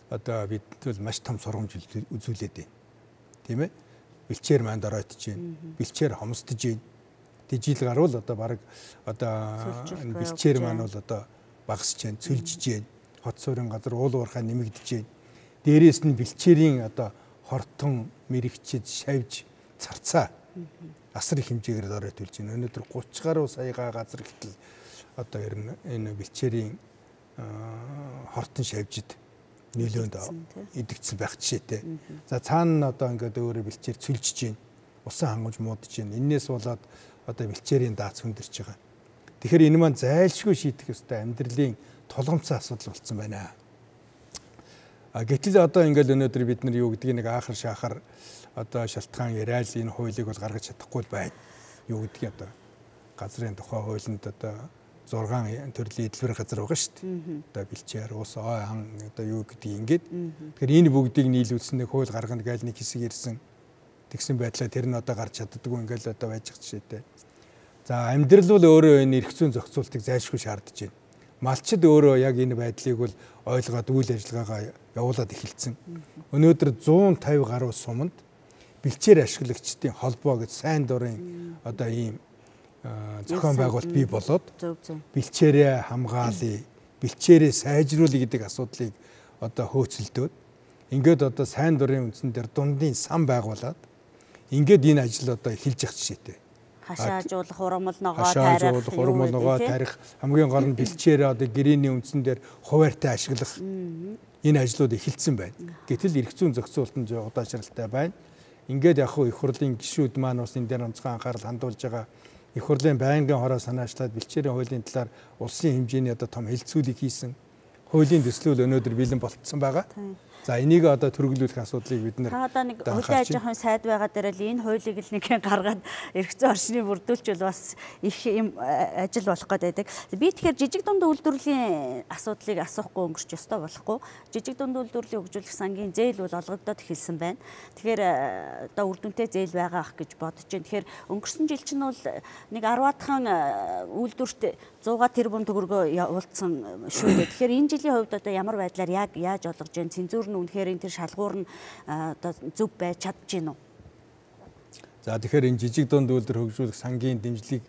одоо бид бол маш том сургамж үзүүлээд байна. Тийм ээ? Бэлчээр маань доройтж байна. Бэлчээр хомсдож байна. Тэг жил гарвал одоо баг одоо бэлчээр маань бол одоо багасж байна, цөлжиж байна. Хот суурин газар уул уурхай нэмэгдэж байна. Дээрээс нь бэлчээрийн одоо хортон мэрэгчэд шавж царцаа асар их хэмжээгээр доройтулж байна. Өнөөдөр 30 гаруй саяга газар гэтэл одоо энэ бэлчээрийн хортон шавжид нөлөөнд идэгдсэн байх жишээтэй. За цаана одоо ингээд өөрөө бэлчээр цөлжиж байна. Усан хангамж муудаж байна. Эннээс болоод одоо бэлчээрийн даац хүндэрч байгаа. Тэгэхээр энэ маань зайлшгүй шийдэх ёстой амьдралын тулгамцсан асуудал болсон байна. Гэтэл одоо ингээд өнөөдөр бид нар юу гэдгийг нэг аахар шаахар одоо шалтгаан яриад энэ хуулийг бол гаргаж чадахгүй байна. Юу гэдгийг одоо газрын тухай хуулинд одоо 6 төрлийн эдлбэр газар байгаа шүү дээ. Одоо бэлчээр, ус, ой, хан одоо юу гэдэг ингээд. Тэгэхээр энэ бүгдийг нийлүүлсэн нэг хууль гаргана гээл нэг хэсэг ирсэн. Тэгсэн байдлаа тэр нь одоо гарч чаддаггүй ингээл одоо байж байгаа жишээтэй. За амьдрал бол өөрөө энэ эрх зүйн зохицуултыг зайлшгүй шаардж байна. Малчид өөрөө яг энэ байдлыг бол ойлгоод үйл ажиллагаагаа явуулаад эхэлсэн. Өнөөдөр 150 гаруй суманд бэлчээр ашиглагчдын холбоо гэж сайн дурын одоо ийм зохион байгуулалт бий болоод бэлчээрээ хамгаалъя, бэлчээрээ сайжруулъя гэдэг асуудлыг одоо хөөцөлдөөд ингээд одоо сайн дурын үндсэн дээр дундын сан байгуулад ингээд энэ ажил одоо эхэлж явах жишээтэй. Хашаажуулах, урамл ногоо тарих хамгийн гол нь бэлчээрээ одоо гэрээний үндсэн дээр хуваартай ашиглах энэ ажлууд эхэлсэн байна. Гэтэл эрх зүйн зохицуулалтын удаашралтай байна. Ингээд яг их хурлын гишүүд маань бас энэ дээр онцгой анхаарал хандуулж байгаа. Их хурлын байнгын хороо санаачлаад бэлчээрийн хуулийн талаар улсын хэмжээний одоо том хэлэлцүүлэг хийсэн. Хуулийн төслөл өнөөдөр бэлэн болтсон байгаа. За энийг одоо төрөглүүлэх асуудлыг бид нэр одоо нэг хөдөө аж ахуйн сайд байгаа дээр л энэ хуулийг л нэг гаргаад эрх зүйн орчныг бүрдүүлчихвэл бас их юм ажил болох гэдэг. Би тэгэхээр жижиг дунд үйлдвэрлэлийн асуудлыг асуухгүй өнгөрч ёстой болохгүй. Жижиг дунд үйлдвэрлэлийн хөгжүүлэх сангийн зээл бол олгогдоод эхэлсэн байна. Тэгэхээр одоо үр дүнтэй зээл байгаа ах гэж бодож байна. Тэгэхээр өнгөрсөн жил чинь бол нэг 10-аадхан үйлдвэрт 100 тэрбум төгрөгөө явуулсан шүү дээ. Тэгэхээр энэ жилийн хувьд одоо ямар байдлаар яг яаж олгож байна? Цензур үнэхээр энэ тэр шалгуур нь одоо зөв байж чадж гин үү? За тэгэхээр энэ жижиг дунд үйлдвэр хөгжүүлэх сангийн дэмжлэг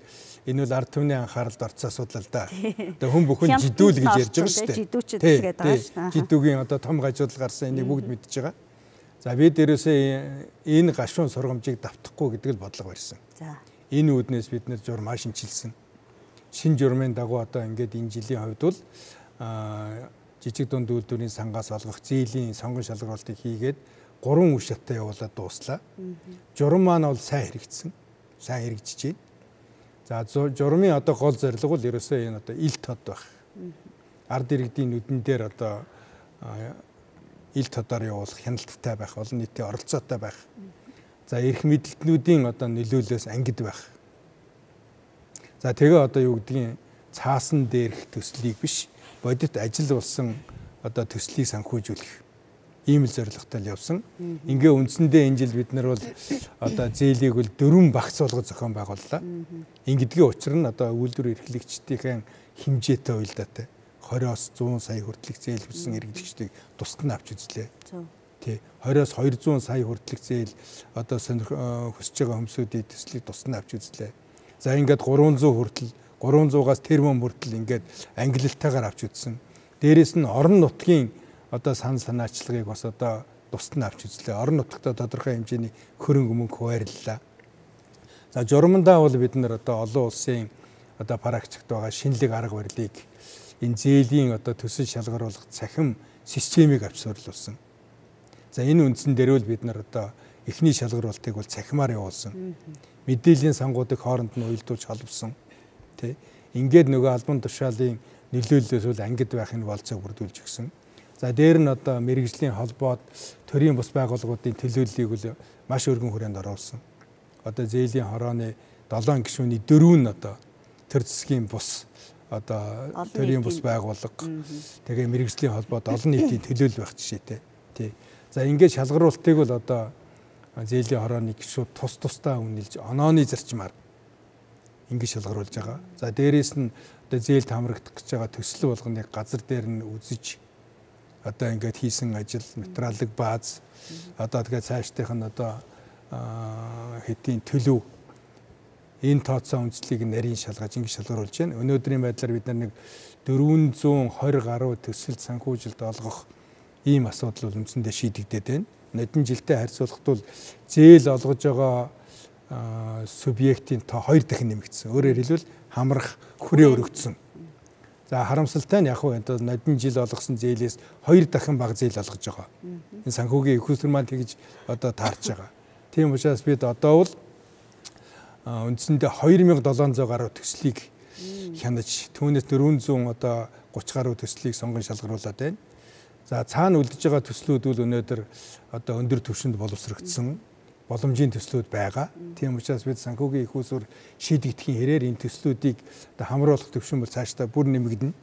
энэ бол ард түмний анхааралд орсон асуудал л да. Одоо хүн бүхэн жидүүл гэж ярьж байгаа шүү дээ. Жидүүчэд тэгээд байгаа шүү. Жидүүгийн одоо том гажуудал гарсан энийг бүгд мэдж байгаа. За бид дээрээсээ энэ гашуун сургамжийг давтахгүй гэдэг л бодлого барьсан. За энэ үүднээс бид нэр журмаа шинчилсэн. Шинэ журмын дагуу одоо ингээд энэ жилийн хувьд бол жижиг дунд үйлдвэрийн сангаас олгох зээлийн сонгон шалгаруулалтыг хийгээд 3 үе шаттай явуулаад дууслаа. Журам маань бол сайн хэрэгжсэн. Сайн хэрэгжиж байна. За журмын одоо гол зорилго бол ерөөсөө энэ одоо ил тод байх. Ард иргэдийн нүдэн дээр одоо ил тодоор явуулах хяналттай байх, олон нийтийн оролцоотой байх. За эрх мэдлэлтнүүдийн одоо нөлөөлөөс ангид байх. За тэгээ одоо юу гэдгийг цаасан дээрх төслийг биш бодит ажил болсон одоо төслийг санхүүжүүлэх ийм л зорилготой явсан. Ингээ үндсэндээ энэ жил бид нар бол одоо зээлийг бол 4 багц болгож зохион байгууллаа. Ингэдгийн учир нь одоо үйлдвэр эрхлэгчдийн хэмжээтэй уялдаатай 20-оос 100 сая хүртэлх зээл хүссэн эрхлэгчдийг тусад нь авч үзлээ. Тий 20-оос 200 сая хүртэлх зээл одоо хүсэж байгаа хүмүүсийн төслийг тусад нь авч үзлээ. За ингээд 300 хүртэл 300-аас тэрбум хүртэл ингээд ангиллалтайгаар авч үзсэн. Дээрээс нь орон нутгийн одоо санаачлагыг бас одоо тусад нь авч үзлээ. Орон нутгад тодорхой хэмжээний хөрөнгө мөнгө хуваарлаа. За журамдаа бол бид нар одоо олон улсын одоо практикт байгаа шинэлэг арга барилыг энэ зээлийн одоо төсөл шалгаруулах цахим системийг авч суурилуулсан. За энэ үндсэн дээр бол бид нар одоо эхний шалгаруултыг бол цахимаар явуулсан. Мэдээллийн сангуудыг хооронд нь уялдуулж холбосон. Тэ. Ингээд нөгөө албан тушаалын нөлөөллөөс бол ангид байхын болцоог бүрдүүлж өгсөн. За дээр нь одоо мэрэгжлийн холбоод төрийн бус байгууллагуудын төлөөллийг бол маш өргөн хүрээнд оруулсан. Одоо зээлийн хорооны 7 гишүүний 4 нь одоо төр засгийн бус одоо төрийн бус байгууллага тэгээ мэрэгжлийн холбоод олон нийтийн төлөөлөл байх жишээтэй. Тий. За ингээд шалгаруултыг бол одоо зээлийн хорооны гишүүд тусдаа үнэлж онооны зарчмаар ингээд шалгаруулж байгаа. За дээрээс нь одоо зээлд хамрагдах гэж байгаа төсөл болгоныг газар дээр нь үзэж одоо ингээд хийсэн ажил материалын бааз одоо тэгээ цаашдынх нь одоо хэдийн төлөв энэ тооцоо үндэслэлийг нарийн шалгаж ингэ шалгаруулж байна. Өнөөдрийн байдлаар бид нар нэг 420 гаруй төсөлд санхүүжилт олгох ийм асуудал бол үндсэндээ шийдэгдээд байна. Нодон жилдээ харьцуулахад бол зээл олгож байгаа субъектийн тоо 2 дахин нэмэгдсэн. Өөрөөр хэлбэл хамрах хүрээ өргөцсөн. За харамсалтай нь яг хөө одоо нодон жил олгосон зээлээс 2 дахин бага зээл олгож байгаа. Энэ санхүүгийн их усрын маань тэгж одоо таарч байгаа. Тийм учраас бид одоо бол үндсэндээ 2700 гаруй төслийг хянаж түүнээс 400 одоо 30 гаруй төслийг сонгон шалгаруулад байна. За цаана үлдэж байгаа төслүүд бол өнөөдөр одоо өндөр түвшинд боловсрогдсон боломжийн төслүүд байгаа. Тийм учраас бид санхүүгийн их усүр шийдэгдэхийн хэрээр энэ төслүүдийг одоо хамруулах төвшин бол цаашдаа бүр нэмэгдэнэ.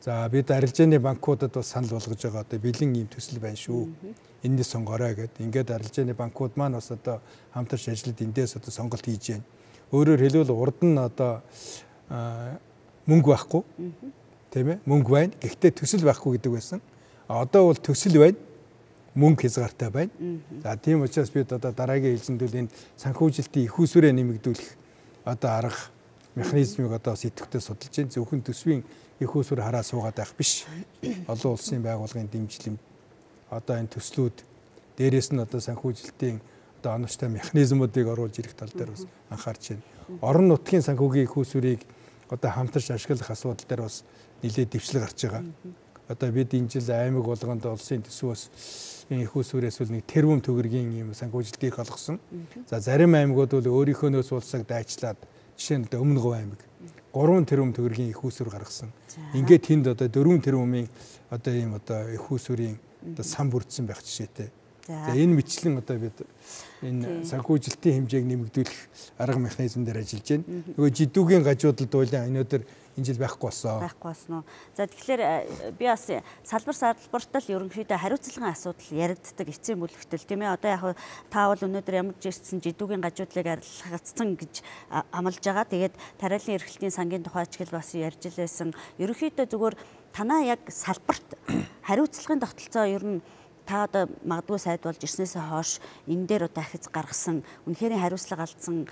За бид арилжааны банкудад бас санал болгож байгаа одоо бэлэн ийм төсөл байна шүү. Эндээс сонгорой гэдэг. Ингээд арилжааны банкуд маань бас одоо хамтарч ажиллаад эндээс одоо сонголт хийж байна. Өөрөөр хэлбэл урд нь одоо мөнгө байхгүй. Тийм ээ? Мөнгө байна. Гэхдээ төсөл байхгүй гэдэг байсан. Одоо бол төсөл байна. Мөнгө хязгаартай байна. За тийм учраас бид одоо дараагийн ээлжинд энэ санхүүжилтийн их усүрээ нэмэгдүүлэх одоо арга механизмыг одоо сэтгүүтээ судалж байна. Зөвхөн төсвийн их усүр хараа суугаад байх биш. Олон улсын байгууллагын дэмжлэг одоо энэ төслүүд дээрээс нь одоо санхүүжилтийн одоо оновчтой механизмуудыг оруулж ирэх тал дээр бас анхаарч байна. Орон нутгийн санхүүгийн их усүрийг одоо хамтарч ашиглах асуудал дээр бас нэлээд дэвшлэг гарч байгаа. Одоо бид энэ жил аймаг болгонд улсын төсвөөс энэ их усүрээс бол нэг тэрбум төгрөгийн юм санхүүжилтийг олгосон. За зарим аймагуд бол өөрийнхөө нөөц улсыг дайчлаад жишээ нь өмнө говь аймаг 3 тэрбум төгрөгийн их усүр гаргасан. Ингээд тэнд одоо 4 тэрбумын одоо ийм одоо их усүрийн одоо сан бүрдсэн байх жишээтэй. За энэ мэтлэн одоо бид энэ санхүүжилтийн хэмжээг нэмэгдүүлэх арга механизм дээр ажиллаж байна. Нөгөө жидүүгийн гажуудад байлаа өнөөдөр энэ жил байхгүй болсон. Байхгүй болсон уу. За тэгэхээр би бас салбартал ерөнхийдөө хариуцлагын асуудал яригддаг эцсийн бүлэгтэл тийм ээ. Одоо яг та бол өнөөдөр ямар ч ирсэн жидүүгийн гажуудлыг арилгацсан гэж амлаж байгаа. Тэгээд тариалан эрхлэлтийн сангийн тухай ч бас ярьж илсэн. Ерөнхийдөө зүгээр танаа яг салбарт хариуцлагын тогтолцоо ер нь та одоо магадгүй сайд болж ирснээс хойш энэ дээр одоо ахиц гаргасан үнэхээр хариуцлага алдсан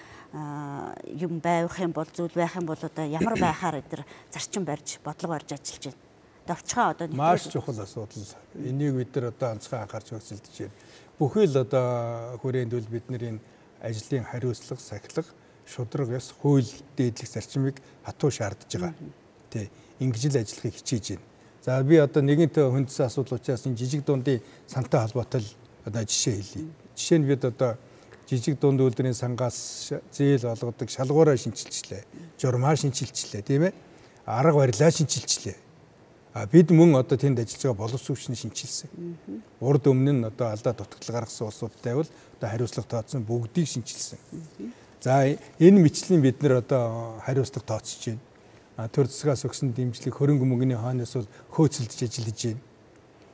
юм байх юм бол зүйл байх юм бол одоо ямар байхаар эдгээр зарчим барьж бодлого барьж ажиллаж байна. Довчхоо одоо маш чухал асуудал. Энийг бид нар одоо онцгой анхаарч хөсөлдөж байна. Бүхэл одоо хүрээнд бол бид нар энэ ажлын хариуцлага, сахилга, шударга ёс, хууль дээдлэх зарчмыг хатуу шаардж байгаа. Тэ ингэж л ажиллахыг хичээж байна. За би одоо нэгэнтээ хүндсэн асуудал учраас энэ жижиг дундын сантай холбоотой одоо жишээ хэлье. Жишээ нь бид одоо жижиг дунд үйлдвэрийн сангаас зээл олгодог шалгуураа шинчилчлээ. Журмаа шинчилчлээ, тийм ээ? Арга барилаа шинчилчлээ. Бид мөн одоо тэнд ажиллаж байгаа боловсруучны шинчилсэн. Урд өмнө нь одоо алдаа дутагдал гаргасан улсуудтай бол одоо хариуцлага тооцсон бүгдийг шинчилсэн. За энэ мэтлэн бид нар одоо хариуцлага тооцож байна. Төр засгаас өгсөн дэмжлэг хөрөнгө мөнгөний хойноос бол хөөцөлдөж ажиллаж байна.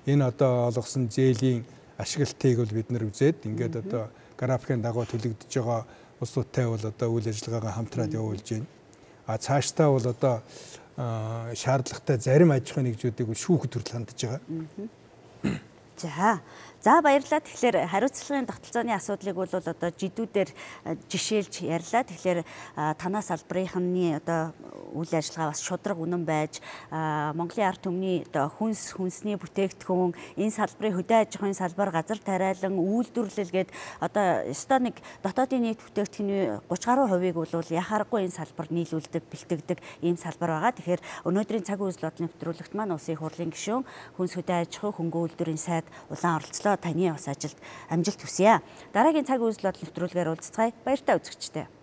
Энэ одоо олгосон зээлийн ашиглалтыг бол бид нар үзээд ингээд одоо графикын дагуу төлөгдөж байгаа улсуудтай бол одоо үйл ажиллагаагаа хамтраад явуулж байна. Цаашдаа бол одоо шаардлагатай зарим аж ахуйн нэгжүүдийг шүүхэд хүртэл хандж байгаа. За баярлалаа. Тэгэхээр хариуцлагын тогтолцооны асуудлыг бол одоо жидүүдээр жишээлж ярьлаа. Тэгэхээр танаа салбарынхны одоо үйл ажиллагаа бас шудраг үнэн байж Монголын ард түмний одоо хүнсний бүтээгдэхүүн, энэ салбарын хөдөө аж ахуйн салбар, газар тариалан, үйлдвэрлэл гээд одоо ёстой нэг дотоодын нийт бүтээгдэхүүний 30 гаруй хувийг бол яхаарахгүй энэ салбар нийлүүлдэг, бэлтгэдэг ийм салбар байгаа. Тэгэхээр өнөөдрийн цаг үйл бодлогын нэвтрүүлэгт маань Улсын их хурлын гишүүн, хүнс хөдөө аж ахуй, хөнгөн үйлдвэрийн сайд улаан оролцлоо. Таны бас ажилд амжилт хүсье. Дараагийн цаг үйл бодлогын нэвтрүүлгээр уулзцгаая. Баяртай үзэгчдээ.